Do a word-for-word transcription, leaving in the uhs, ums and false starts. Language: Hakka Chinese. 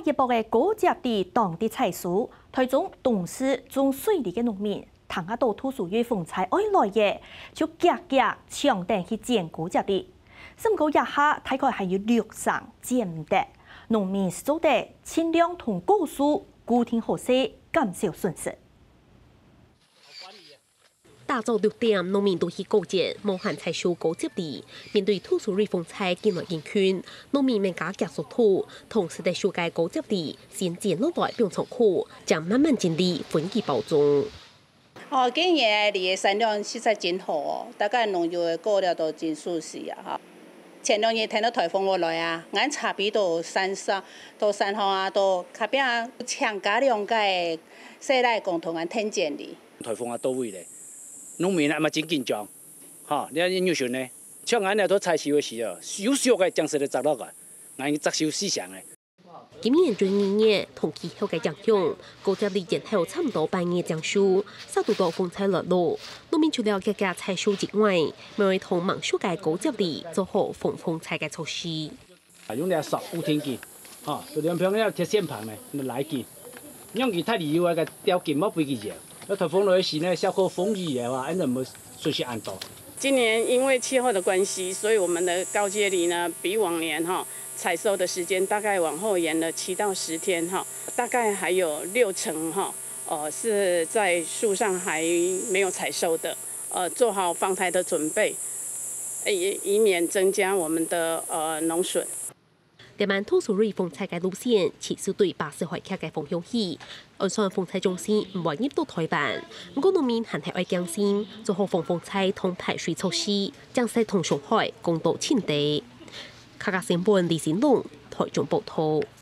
一駁个高接地當地採收，台中東勢種水梨个農民，聽下到杜蘇芮風災愛來了，就遽遽搶等去剪高接地。毋過這下大概還有六成剪毋得，農民係做得盡量同果樹固定好勢，減少損失。 打早六點，農民都去高接，無閒採收高接梨。面對杜蘇芮風災緊來緊近，農民們加遽速度，同時得收个高接梨，先剪落來放倉庫，正慢慢整理分佢包裝。哦，今年个梨个產量實在真好哦，大概農友个過了都真舒適啊哈。前兩日聽到颱風會來啊，𠊎差不多山上、到山上啊，到隔壁啊，請加兩个細倈共同𠊎聽剪梨。 颱風啊到位咧，農民啊嘛真緊張，吼，你看你有想呢，像恁樣都採收个時候，有熟个正式个摘落來，𠊎摘收四成个。今年春二月，同氣候个影響，高接梨前後差毋多半月正收，煞堵到風災來落。農民除了遽遽採收之外，乜愛同吂熟个高接梨做好防風災个措施。 啊，用這索固定佢，吼，就連平个鐵線棒呢，來佢，讓佢太離有个條件莫分佢搖。那颱風來時呢，小可風雨个話，恁樣毋會損失恁多。今年因為氣候的關係，所以我們的高接梨呢，比往年哈採收的時間大概往後延了七到十天哈，大概還有六成哈，呃，是在樹上還沒有採收的，呃，做好防颱的準備，呃，以以免增加我們的呃農損。 這滿土石流風災个路線，其實對巴士海峽个方向去，按算風災中心毋會入到臺灣。毋過農民還係愛驚心，做好防風災同排水措施，正使同上海講到盡底。客家新聞李新龍，臺中報導。